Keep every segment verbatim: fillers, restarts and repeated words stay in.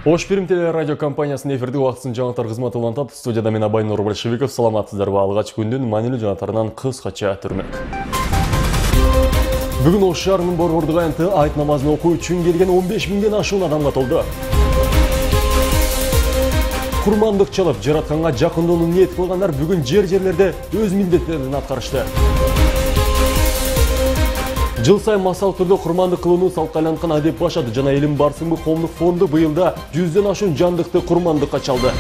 Ош Перим телерадио компаниясынын эфирдик убактысын жаңылыктар кызматы улантат. Студияда мен Абайнур Большевиков. Саламатсыздарбы? Алгач күндүн маанилүү жаңылыктарынан кыскача түрмөк. Бүгүн Ош шаарынын Борбордук аянты айт намазын окуу үчүн келген он беш миңден ашуун адамга толду. Курмандык чалып, жаратканга жакындоону ниет кылгандар бүгүн жер-жерлерде өз милдеттерин аткарышты. Жыл сайын массалык түрдө курмандык кылууну салтка айланткан адеп башады жана элим барсыңбы коомдук фонду быйылда жүздөн ашуун жандыкты курмандыкка чалды.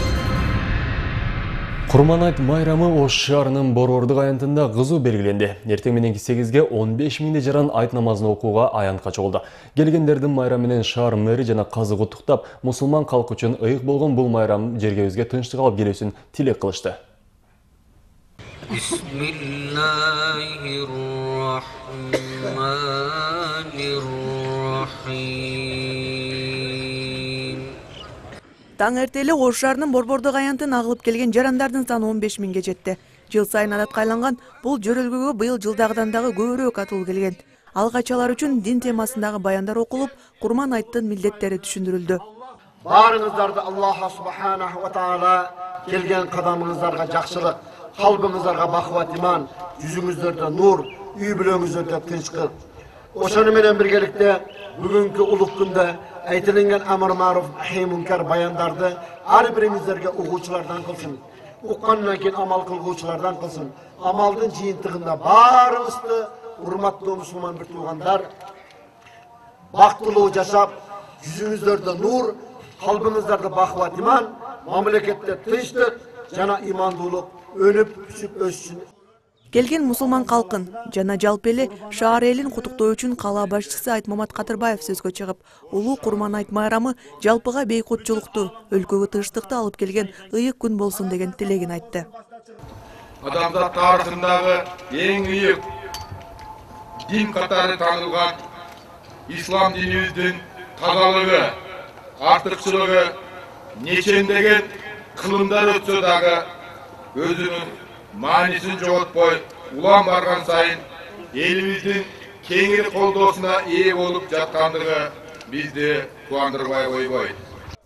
Курман айт майрамы Ош шаарынын Борбордук аянтында кызуу белгиленди. Эртең мененки сегизге он беш миңдей жаран айт намазын окууга аянтка чогулду. Келгендердин майрам менен шаар мэри жана казы куттуктап, мусулман калкы үчүн ыйык болгон бул майрам жергебизге тынчтык алып келүүсүн тилек кылышты. Таң эртеле Ош шаарынын Борбордук аянтын агылып келген жарандардын саны он беш миңге жетти. Жыл сайын адатка айланган бул жөрөлгөгө быйыл жылдагыдан дагы көбүрөөк атуу келген. Алгач алар үчүн дин темасындагы баяндар окулуп, курман айттын милдеттери түшүндүрүлдү. Баарыңыздарды Аллах субханаху ва таала келген кадамыңыздарга жакшылык, калбыңыздарга бакыт иман, жүзүңүздөрдө нур, үй бүлөңүздөрдө тынчтык. Ошону менен биргеликте бүгүнкү улук күндө айтылган амр маруф нахи мункар баяндарды ар бириңиздерге угуучулардан кылсын. Уккандан кийин амал кылгуучулардан кылсын. Амалдын жыйынтыгында баарыбызды урматтуу мусулман бир туугандар бактылуу жашап, жүзүңүздөрдө нур, калбыңыздарда бакыт иман, мамлекетте тынчтык жана имандуулук өнүп өсүп өссүн. Келген мусулман калкын жана жалпы эле шаар элин куттуктоо үчүн кала башчысы Айтмамат Катырбаев сөзгө чыгып, улуу курман айт майрамы жалпыга бейкутчулукту, өлкөгө тынчтыкты алып келген ыйык күн болсун деген тилегин айтты. Адамзат тарыхындагы эң ыйык дин катары таанылган ислам динибиздин тазалыгы, артыкчылыгы нечендеген кылымдар өтсө дагы өзүнүн маанисин жоготпой, улам барган сайын элибиздин кеңири колдоосуна ээ болуп жаткандыгы бизди кубандырбай койбойт.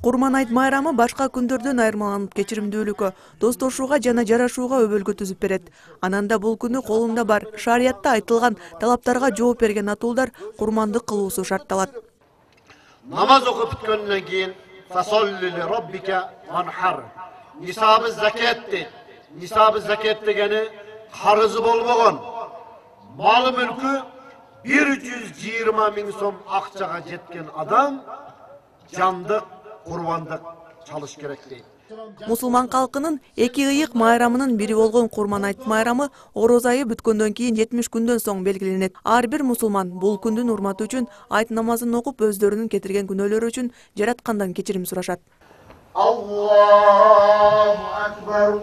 Курман айт майрамы башка күндөрдөн айырмаланып кечиримдүүлүккө, достошууга жана жарашууга өбөлгө түзүп берет. Ананда бул күнү колунда бар шариятта айтылган талаптарга жооп берген атуулдар курмандык кылуусу шартталат. Намаз окуп бүткөндөн кийин фасолли ли роббика ванхар. Нисабы закат дейт. Нисабы закат дегени карызы болбогон малы мүлкү бир жүз жыйырма миң сом акчага жеткен адам жандык курбандык чалыш керек дейт. Мусулман калкынын эки ыйык майрамынын бири болгон курман айт майрамы ороз айы бүткөндөн кийин жетимиш күндөн соң белгиленет. Ар бир мусулман бул күндүн урматы үчүн айт намазын окуп, өздөрүнүн кетирген күнөөлөрү үчүн жараткандан кечирим сурашат. Аллаху акбар.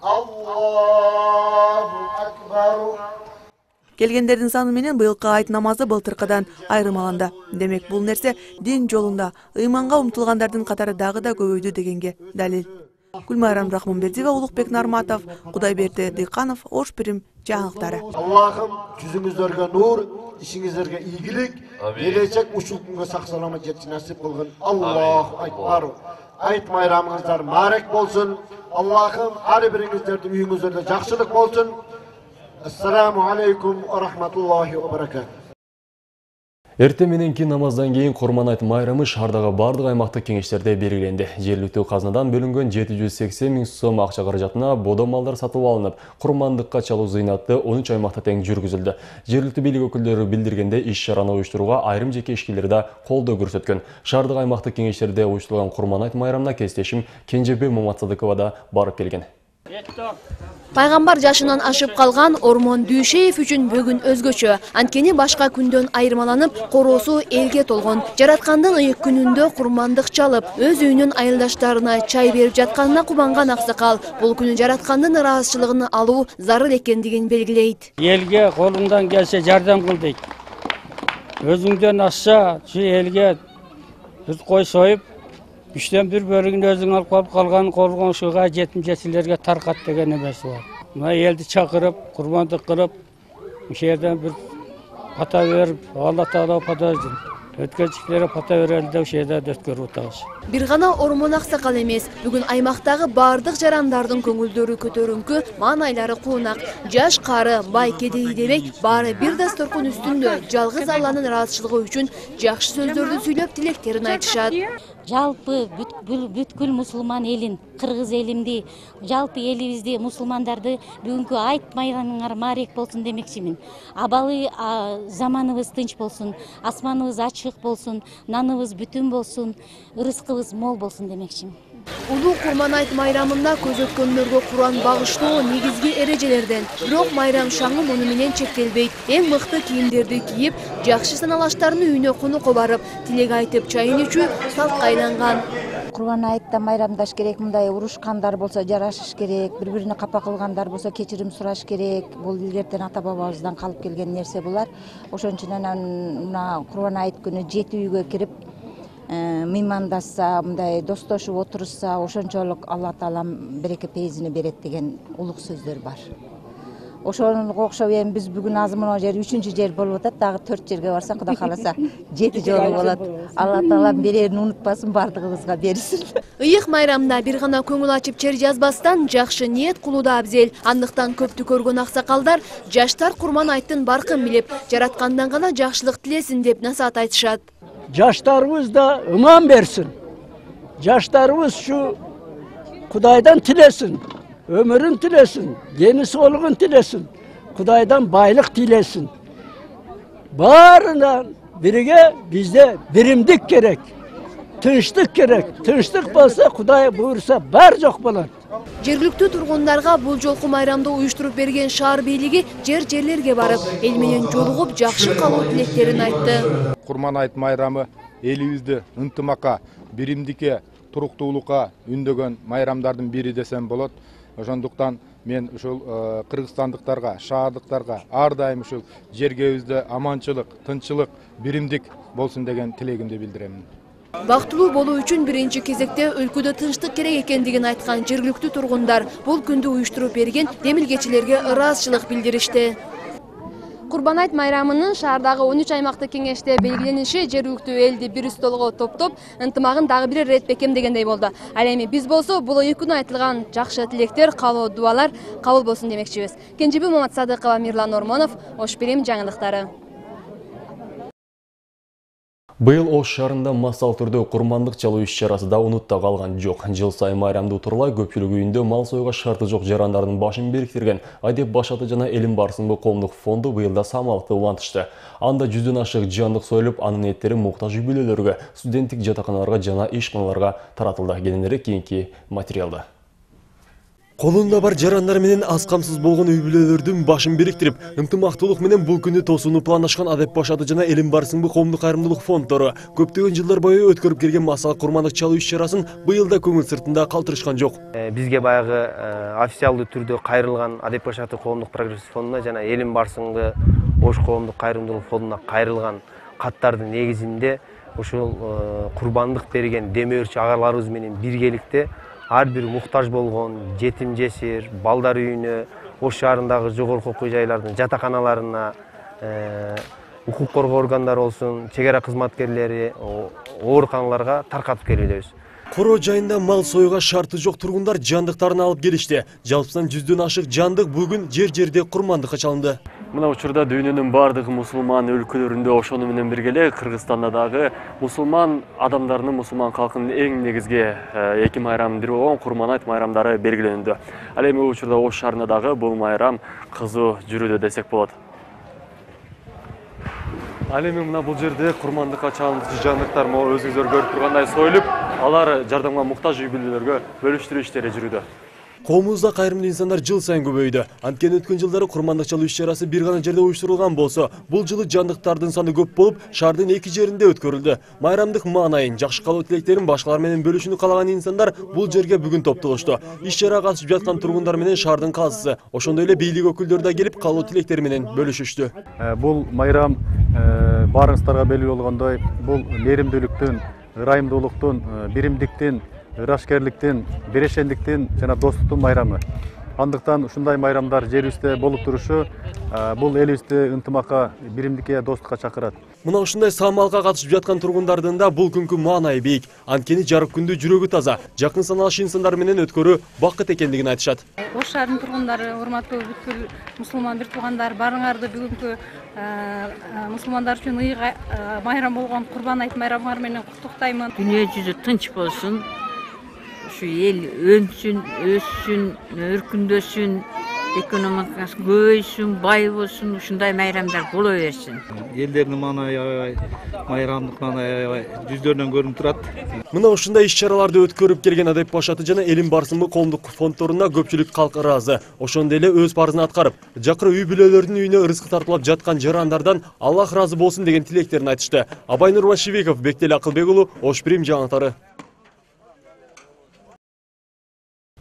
Аллаху акбар. Келгендердин саны менен быйылкы айт намазы былтыркыдан айырмаланды. Демек, бул нерсе дин жолунда ыйманга умтулгандардын катары дагы да көбөйдү дегенге далил. Гүлмайрам Рахманбердиева, Улукбек Нарматов, Кудайберди Дыйканов, Ош Перим жаңылыктары. Аллахым жүзүңүздөргө нур, ишиңиздерге ийгилик, келечек ушул күнгө сак саламат жетишин насип кылгын. Аллаху акбар. Айт майрамыңыздар марек болсун. Аллахым ар бириңиздердин үйүңүздөрдө жакшылык болсун. Ассаламу алейкум ва рахматуллахи ва баракат. Эртең мененки намаздан кийин курман айт майрамы шаардагы бардык аймактык кеңештерде белгиленди. Жергиликтүү казнадан бөлүнгөн жети жүз сексен миң сом акча каражатына бодо малдар сатып алынып, курмандыкка чалуу зыйнаты он үч аймакта тең жүргүзүлдү. Жергиликтүү бийлик өкүлдөрү билдиргенде, иш-чараны уюштурууга айрым жеке ишкерлер да колдоо көрсөткөн. Шаардык аймактык кеңештерде уюштурулган курман айт майрамына кесиптешим Кенжебек Моматсадыкова да барып келген. Пайгамбар жашынан ашып калган Ормон Дүйшеев үчүн бүгүн өзгөчө. Анткени башка күндөн айырмаланып, короосу элге толгон. Жараткандын ыйык күнүндө курмандык чалып, өз үйүнүн айылдаштарына чай берип жатканына кубанган аксакал бул күнү жараткандын ыраазычылыгын алуу зарыл экендигин белгилейт. Элге колуңдан келсе жардам кыл дейт. Өзүңдөн ашса, şu элге бир кой союп, үчтөн бир бөлүгүн өзүң алып калып калган коргоншуга жетим жесилерге таркат деген эмеси бар. Мына элди чакырып, курмандык кылып, ошол жерден бир пата берип, Алла Таала пата өткөнчүлөргө пата берели деп ошол жерде өткөрүп атабыз. Бир гана Ормон аксакал эмес, бүгүн аймактагы бардык жарандардын көңүлдөрү көтөрүңкү, маанайлары куунак. Жаш, кары, бай, кедей дебей, баары бир дасторкон үстүндө жалгыз Алланын ыраазычылыгы үчүн жакшы сөздөрдү сүйлөп тилектерин айтышат. Жалпы бүткүл мусулман элин, кыргыз элимди, жалпы элибизди, мусулмандарды бүгүнкү айт майрамыңар маарек болсун демекчимин. Абалы заманыбыз тынч болсун, асманыбыз ачык болсун, наныбыз бүтүн болсун, ырыскыбыз мол болсун демекчимин. Улуу Курман айт майрамында көз өткөнлөргө Куран багыштоо негизги эрежелерден. Бирок майрам шаңы муну менен чектелбейт. Эң мыкты кийимдерди кийип, жакшы саналаштардын үйүнө конокко барып, тилек айтып, чайын ичүү салтка айланган. Курман айтта майрамдаш керек, мындай урушкандар болсо жарашыш керек, бири-бирине капа кылгандар болсо кечирим сураш керек. Бул илгертен ата бабабыздан калып келген нерсе булар. Ошон үчүн анан мына Курман айт күнү жети үйгө кирип мыймандашса, мындай достошуп отурушса, ошончолук Алла Таалам береке пейизини берет деген улук сөздөр бар. Ошонго окшоп эми биз бүгүн азыр мына жер үчүнчү жер болуп атат, дагы төрт жерге барсак, Кудай кааласа жети жолу болот. Алла Таалам берерин унутпасын, бардыгыбызга берсин. Ыйык майрамда бир гана көңүл ачып чер жазбастан жакшы ниет кылуу да абзел. Андыктан көптү көргөн аксакалдар жаштар Курман айттын баркын билип, жараткандан гана жакшылык тилесин деп насаат айтышат. Жаштарыбыз да ыман берсин. Жаштарыбыз ушу Кудайдан тилесин, өмүрүн тилесин, дени соолугун тилесин, Кудайдан байлык тилесин. Баарынан бирге бизде биримдик керек, тынчтык керек. Тынчтык болсо Кудай буйрса бар жок болот. Жергиликтүү тургундарга бул жолку майрамды уюштуруп берген шаар бийлиги жер-жерлерге барып, эл менен жолугуп жакшы калуу тилектерин айтты. Курман айт майрамы элибизди ынтымакка, биримдикке, туруктуулукка үндөгөн майрамдардын бири десем болот. Ошондуктан мен ушул кыргызстандыктарга, шаардыктарга ар дайым ушул жергебизде аманчылык, тынччылык, биримдик болсун деген тилегимди билдиремин. Бактылуу болуу үчүн биринчи кезекте өлкөдө тынчтык керек экендигин айткан жергиликтүү тургундар бул күндү уюштуруп берген демилгечилерге ыраазычылык билдиришти. Курбан айт майрамынын шаардагы он үч аймактык кеңеште белгилениши жергиликтүү элди бир столго топтоп, ынтымагын дагы бир ирет бекемдегендей болду. Ал эми биз болсо бул ыйык күнү айтылган жакшы тилектер, каалоо дуалар кабыл болсун демекчибиз. Кенжеби Маматсадыкова, Мирлан Ормонов, Ош Билим жаңылыктары. Быйыл Ош шаарында массалык түрдө курмандык чалуу иш-чарасы да унутта калган жок. Жыл сайын майрамды утурлай көпчүлүк үйүндө мал союга шарты жок жарандардын башын бириктирген Адеп Башаты жана Элим Барсынбы коомдук фонду быйылда самалыкты улантышты. Анда жүздөн ашык жандык союлуп, анын эттери муктаж үй бүлөлөргө, студенттик жатаканаларга жана ишканаларга таратылды. Кененирээк кийинки материалда. Колунда бар жарандар менен аз камсыз болгон үй бүлөлөрдүн башын бириктирип, ынтымактуулук менен бул күнү тосууну планлашкан Адеп Башаты жана Элим Барсынбы коомдук кайрымдуулук фонддору көптөгөн жылдар бою өткөрүп келген массалык курмандык чалуу иш-чарасын быйыл да көңүл сыртында калтырышкан жок. Бизге баягы официалдуу түрдө кайрылган Адеп Башаты коомдук прогресс фондуна жана Элим Барсынбы Ош коомдук кайрымдуулук фондуна кайрылган каттардын негизинде ушул курбандык берген демөөрчү агаларыбыз менен биргеликте ар бир муктаж болгон жетим жесир балдар үйүнө, Ош шаарындагы жогорку окуу жайлардын жатаканаларына, укук коргоо органдары болсун, чек ара кызматкерлери, ооруканаларга таркатып келебиз. Коро жайында мал союга шарты жок тургундар жандыктарын алып келишти. Жалпысынан жүздөн ашык жандык бүгүн жер-жерде курмандыкка чалынды. Мына учурда дүйнөнүн бардык мусулман өлкөлөрүндө ошону менен бирге эле Кыргызстанда дагы мусулман адамдарынын, мусулман калкынын эң негизги эки майрамынын бири болгон Курман айт майрамдары белгиленүүдө. Ал эми учурда Ош шаарында дагы бул майрам кызуу жүрүүдө десек болот. Ал эми мына бул жерде курмандыкка чалынчу жандыктар могу өзүңүздөр көрүп тургандай союлуп, алар жардамга муктаж үй бүлөлөргө бөлүштүрүү иштери жүрүүдө. Коомубузда кайрымдуу инсандар жыл сайын көбөйдү. Анткени өткөн жылдары курмандык чалуу иш-чарасы бир гана жерде уюштурулган болсо, бул жылы жандыктардын саны көп болуп, шаардын эки жеринде өткөрүлдү. Майрамдык маанайын, жакшы калуу тилектерин башкалар менен бөлүшүүнү каалаган инсандар бул жерге бүгүн топтолушту. Иш-чарага катышып жаткан тургундар менен шаардын казысы, ошондой эле бийлик өкүлдөрү да келип, калуу тилектери менен бөлүшүштү. Бул майрам баарыңыздарга белгилүү болгондой, бул мээримдүүлүктүн, ырайымдуулуктун, биримдиктин, ырашкерликтин, берешендиктин жана достуктун майрамы. Андыктан ушундай майрамдар жерибизде болуп турушу бул элибизди ынтымакка, биримдикке, достукка чакырат. Мына ушундай самалга катышып жаткан тургундардын да бул күнкү маанайы бийик. Анткени жарык күндү жүрөгү таза, жакын саналыш инсандар менен өткөрүү бакыт экендигин айтышат. Ош шаарынын тургундары, урматтуу бүткүл мусулман бир туугандар, барыңарды бүгүнкү мусулмандар үчүн ыйык майрам болгон Курбан айт майрамыңар менен куттуктаймын. Дүйнө жүзү тынч болсун. Ушу эл өнсүн, өссүн, өркүндөсүн, экономикасы көбөйсүн, бай болсун, ушундай майрамдар боло берсин. Элдердин маанайы аябай, майрамдык маанайы аябай жүздөрүнөн көрүнүп турат. Мына ушундай иш-чараларды өткөрүп келген Адеп башаты жана Элим барсынбы коомдук фонддоруна көпчүлүк калк ыраазы. Ошондой эле өз парызын аткарып, жакыры үй бүлөлөрдүн үйүнө ырыскы тартылып жаткан жарандардан Аллах ыраазы болсун деген тилектерин айтышты. Абай Нурбашибеков, Бектели Акылбек уулу, Ош Прим жаңылыктары.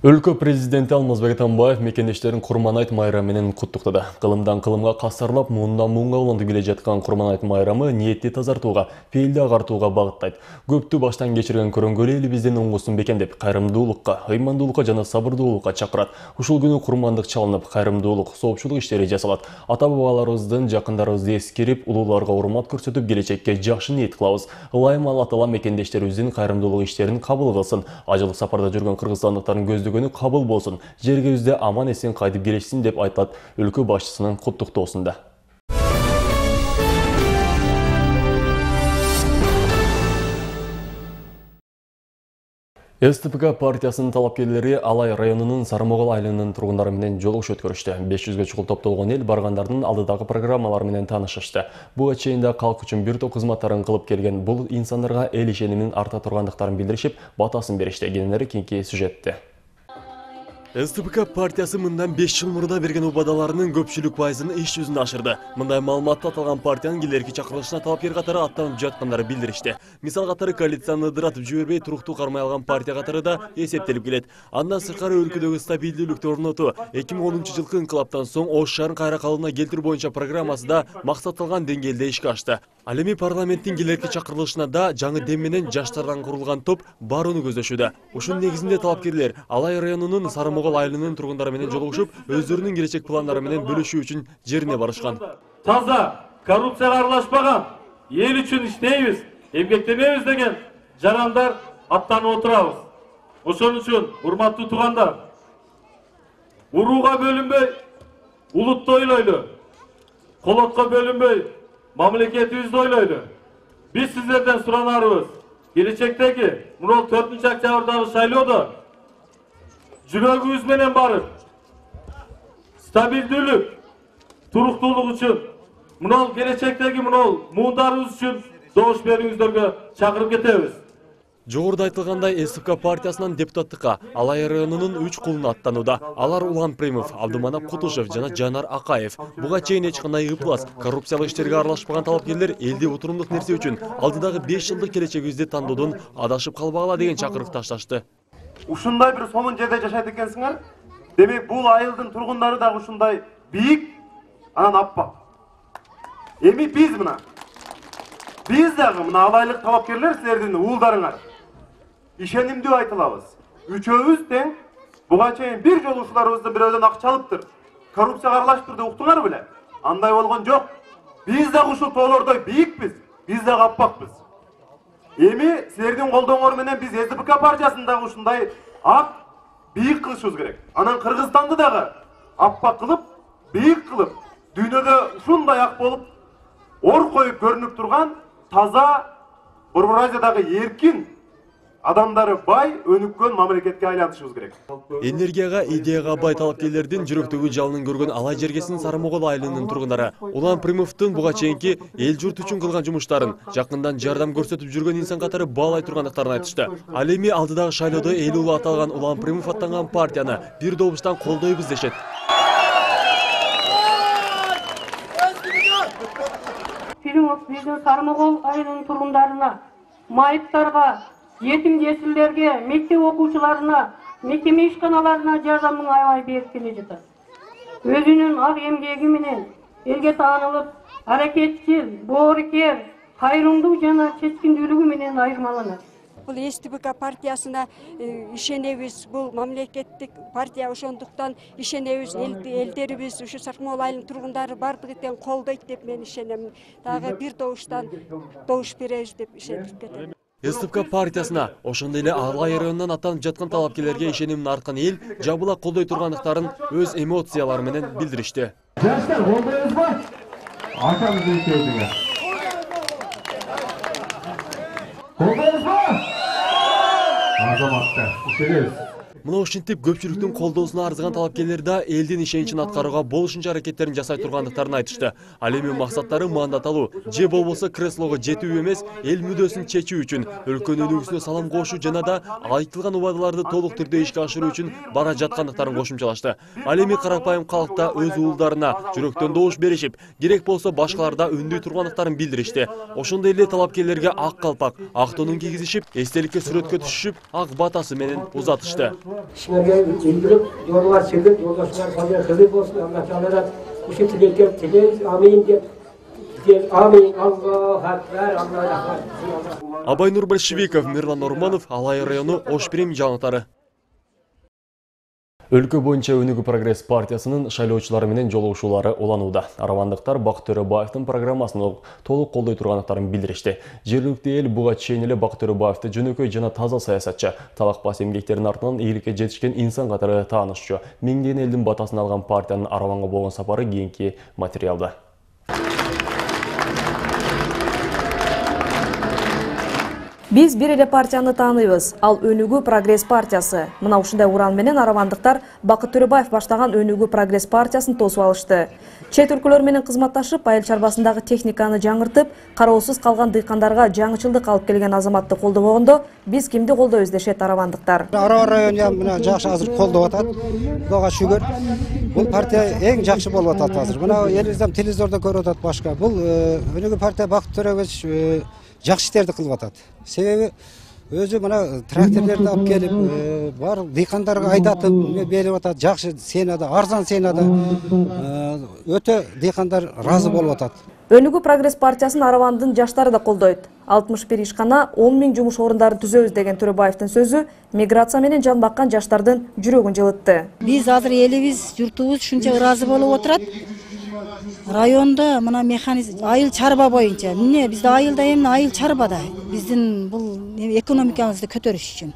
Өлкө президенти Алмазбек Атамбаев мекендештерин Курман айт майрамы менен куттуктады. Кылымдан кылымга касарлап, муундан муунга улантып келе жаткан Курман айт майрамы ниетти тазартууга, пейилди агартууга багыттайт. Көптү баштан кечирген көрөңгөлү элибиздин оңгусун бекемдеп, кайрымдуулукка, ыймандуулукка жана сабырдуулукка чакырат. Ушул күнү курмандык чалынып, кайрымдуулук, соопчулук иштери жасалат. Ата-бабаларыбыздын, жакындарыбызды эскерип, улууларга урмат көрсөтүп, келечекке жакшы ниет кылабыз. Ылайым Алла Таала мекендештерибиздин кайрымдуулук иштерин кабыл кылсын. Ажылык сапарда жүргөн кыргызстандыктардын көздөгөнү кабыл болсун, жергибизде аман эсен кайтып келишсин деп айтылат өлкө башчысынын куттуктоосунда. СТПК партиясынын талапкерлери Алай районунун Сарымогол айылынын тургундары менен жолугуш өткөрүштү. беш жүзгө чукул топтолгон эл баргандардын алдыдагы программалары менен таанышышты. Буга чейин да калк үчүн бир топ кызматтарын кылып келген бул инсандарга эл ишенимин арта тургандыктарын билдиришип, батасын беришти. Кененери кийинки сюжетте. СТПК партиясы мындан беш жыл мурда берген убадаларынын көпчүлүк пайызын иш жүзүнө ашырды. Мындай маалыматты аталган партиянын келерки чакырылышына талапкер катары аттанып жаткандары билдиришти. Мисал катары коалицияны ыдыратып жибербей туруктуу кармай алган партия катары да эсептелип келет. Андан сырткары өлкөдөгү стабилдүүлүктү орнотуу, эки миң онунчу жылкы инкылаптан соң Ош шаарын кайра калыбына келтирүү боюнча программасы да максатталган деңгээлде ишке ашты. Ал эми парламенттин келерки чакырылышына да жаңы дем менен жаштардан курулган топ барууну көздөшүүдө. Ушунун негизинде талапкерлер Алай районунун Сарымогол айылынын тургундары менен жолугушуп, өздөрүнүн келечек пландары менен бөлүшүү үчүн жерине барышкан. Таза, коррупцияга аралашпаган, эл үчүн иштейбиз, эмгектенебиз деген жарандар аттанып отурабыз. Ошон үчүн, урматтуу туугандар, урууга бөлүнбөй, улутты ойлойлу, колотко бөлүнбөй, мамлекетибизди ойлойлу. Биз сиздерден суранарыбыз, келечектеги мына төртүнчү октябрдагы шайлоодо жүрөгүбүз менен барып, стабилдүүлүк, туруктуулук үчүн, мына келечектеги мына муундарыбыз үчүн добуш берүүңүздөргө чакырып кетебиз. Жогоруда айтылгандай СТПК партиясынан депутаттыкка Алай районунун үч кулуна аттанууда. Алар Улан Примов, Абдыманап Кутушев жана Жанар Акаев. Буга чейин эч кандай ыплас, коррупциялык иштерге аралашпаган талапкерлер элди отурумдук нерсе үчүн алдыдагы беш жылдык келечегибизди тандоодон адашып калбагыла деген чакырык ташташты. Ушундай бир сонун жерде жашайт экенсиңер. Демек бул айылдын тургундары дагы ушундай бийик, анан аппак. Эми биз мына биз дагы мына алайлык талапкерлер силердин уулдарыңар ишенимдүү айтылабыз. Үчөөбүз тең. Буга чейин бир жолу ушуларыбызды бирөөдөн акча алыптыр, коррупцияга аралаштыр деп уктуңар беле? Андай болгон жок. Биз дагы ушул тоолордой бийикпиз, биз дагы аппакпыз. Эми силердин колдооңор менен биз СТПК партиясын дагы ушундай ак, бийик кылышыбыз керек. Анан Кыргызстанды дагы аппак кылып, бийик кылып, дүйнөдө ушундай ак болуп, ор коюп көрүнүп турган таза Борбор Азиядагы эркин адамдары бай, өнүккөн мамлекетке айлантышыбыз керек. Энергияга, идеяга бай талапкерлердин жүрөктөгү жалынын көргөн Алай жергесинин Сарымогол айылынын тургундары Улан Примовдун буга чейинки эл журт үчүн кылган жумуштарын, жакындан жардам көрсөтүп жүргөн инсан катары баалай тургандыктарын айтышты. Ал эми алдыдагы шайлоодо эл улу аталган Улан Примов аттанган партияны бир добуштан колдойбуз дешет. Примов биздин Сарымогол айылынын тургундарына, майыптарга, жетим жесирлерге, мектеп окуучуларына, мекеме ишканаларына жардамын аябай берип келе жатат. Өзүнүн ак эмгеги менен элге таанылып, аракетчил, боорукер, кайрымдуу жана чечкиндүүлүгү менен айырмаланат. бул эс тэ бэ ка партиясына ишенебиз. Бул мамлекеттик партия, ошондуктан ишенебиз. Элдерибиз, ушу Саркмол айылынын тургундары бардыгы тең колдойт деп мен ишенем. Дагы бир добуштан добуш беребиз деп ишенип кетем. эс тэ бэ ка партиясына ошондой эле Алай районунан аттанып жаткан талапкерлерге ишенимин арткан эл жабыла колдой тургандыктарын өз эмоциялары менен билдиришти. Жаштар, колдойбузбу? Атамыздын сөзүнө. Колдойбузбу? Азаматтар, ишенебиз. Мына ушинтип көпчүлүктүн колдоосуна арзыган талапкерлер да элдин ишеничин аткарууга болушунча аракеттерин жасай тургандыктарын айтышты. Ал эми максаттары мандат алуу же болбосо креслого жетүү эмес, эл мүддөсүн чечүү үчүн, өлкөнүн өнүгүүсүнө салам кошуу жана да айтылган убадаларды толук түрдө ишке ашыруу үчүн бара жаткандыктарын кошумчалашты. Ал эми карапайым калкта өз уулдарына жүрөктөн добуш беришип, керек болсо башкаларда үндүй тургандыктарын билдиришти. Ошондой эле талапкерлерге ак калпак, ак тонун кийгизишип, эстеликке сүрөткө түшүшүп, ак батасы менен узатышты. Sizlerge bildirip yollar çekip yoldaşlar fazla hızlı olsun Allah Teala'dan bu şey tilekler tileriz amin diye amin Allah Ekber Allah Rahman. Абай Нурбольшевиков, Мирлан Норманов, Алай району Ошпирим жаңылыктары. Өлкө боюнча Өнүгүү прогресс партиясынын шайлоочулары менен жолугушуулары уланууда. Аравандыктар Бакыт Төрөбаевдин программасын толук колдой тургандыктарын билдиришти. Жергиликтүү эл буга чейин эле Бакыт Төрөбаевди жөнөкөй жана таза саясатчы, талакпас эмгектердин артынан ийгиликке жетишкен инсан катары таанышчу. Миңдеген элдин батасын алган партиянын Араванга болгон сапары кийинки материалда. Биз бир эле партияны тааныйбыз, ал Өнүгүү прогресс партиясы. Мына ушундай уран менен аравандыктар Бакыт Төрөбаев баштаган Өнүгүү прогресс партиясын тосуп алышты. Чет өлкөлөр менен кызматташып, айыл чарбасындагы техниканы жаңыртып, кароосуз калган дыйкандарга жаңычылдык алып келген азаматты колдобогондо, биз кимди колдойбуз дешет аравандыктар. Арава району мына жакшы азыр колдоп атат. Буга шүгүр. Бул партия эң жакшы болуп атат азыр. Мына элибизден телевизордо көрүп атат башка. Бул Өнүгүү партия Бакыт Төрөбаев жакшы иштерди кылып атат. Себеби өзү мына тракторлорду алып келип, бар дыйкандарга айдатып берип атат. Жакшы сенада, арзан сенада өтө дыйкандар разы болуп атат. Өнүгүү прогресс партиясын Аравандын жаштары да колдойт. алтымыш бир ишкана он миң жумуш орундарын түзөбүз деген Төрөбаевдин сөзү миграция менен жан баккан жаштардын жүрөгүн жылытты. Биз азыр элибиз, журтубуз ушунча ыраазы болуп отурат. Районда мына механизм айыл чарба боюнча. Эмне бизде айылда эмне айыл чарбада. Биздин бул экономикабызды көтөрүш үчүн.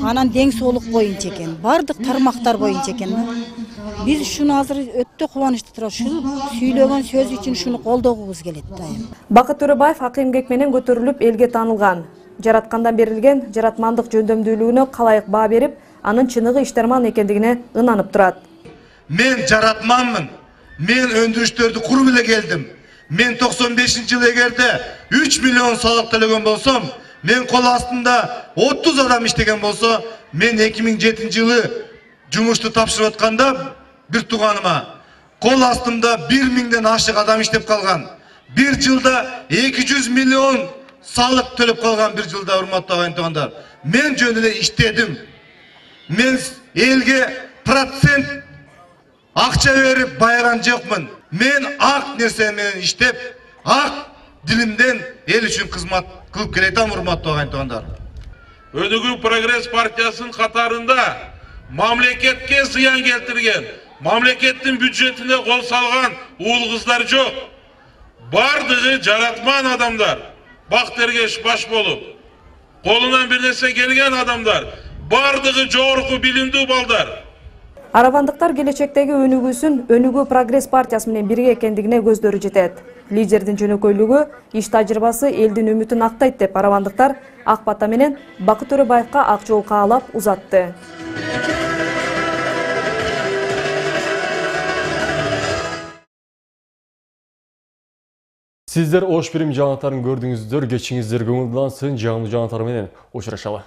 Анан дең соолук боюнча экен. Бардык тармактар боюнча экен. Биз ушуну азыр өтө кубанычтуу турат. Ушул сүйлөгөн сөз үчүн ушуну колдогубуз келет дайым. Бакыт Төрөбаев ак эмгек менен көтөрүлүп элге таанылган. Жараткандан берилген жаратмандык жөндөмдүүлүгүнө калайык баа берип, анын чыныгы иштерман экендигине ынанып турат. Мен жаратманмын. Мен өндүрүштөрдү куруп эле келдим. Мен токсон бешинчи жылы эгерде үч миллион салык төлөгөн болсом, мен кол астында отуз адам иштеген болсо, мен эки миң жетинчи жылы жумушту тапшырып атканда бир тууганыма кол астымда бир миңден ашык адам иштеп калган. Бир жылда эки жүз миллион салык төлөп калган бир жылда, урматтуу агайын туугандар. Мен жөн эле иштедим. Мен элге процент акча берип байыган жокмун. Мен ак нерсе менен иштеп, ак дилимден эл үчүн кызмат кылып келетем, урматтуу агайын туугандар. Өнүгүү прогресс партиясынын катарында мамлекетке зыян келтирген, мамлекеттин бюджетине кол салган уул кыздар жок. Бардыгы жаратман адамдар, бактергеш баш болуп, колунан бир нерсе келген адамдар, бардыгы жогорку билимдүү балдар. Аравандыктар келечектеги өнүгүүсүн Өнүгүү прогресс партиясы менен бирге экендигине көздөрү жетет. Лидердин жөнөкөйлүгү, иш тажрыйбасы элдин үмүтүн актайт деп аравандыктар ак бата менен Бакыт Төрөбаевка ак жол каалап узатты. Сиздер Ошпирим жаңалыктарын көрдүңүздөр, кечиңиздер көңүлдү алсын, жаңылуу жаңалыктар менен учурашалы.